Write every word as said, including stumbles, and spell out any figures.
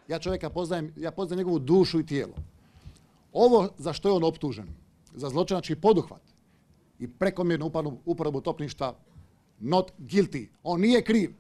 Ja čovjeka poznajem, ja poznajem njegovu dušu i tijelo. Ovo za što je on optužen, za zločinački poduhvat i prekomjernu uporabu topništva, not guilty. On nije kriv.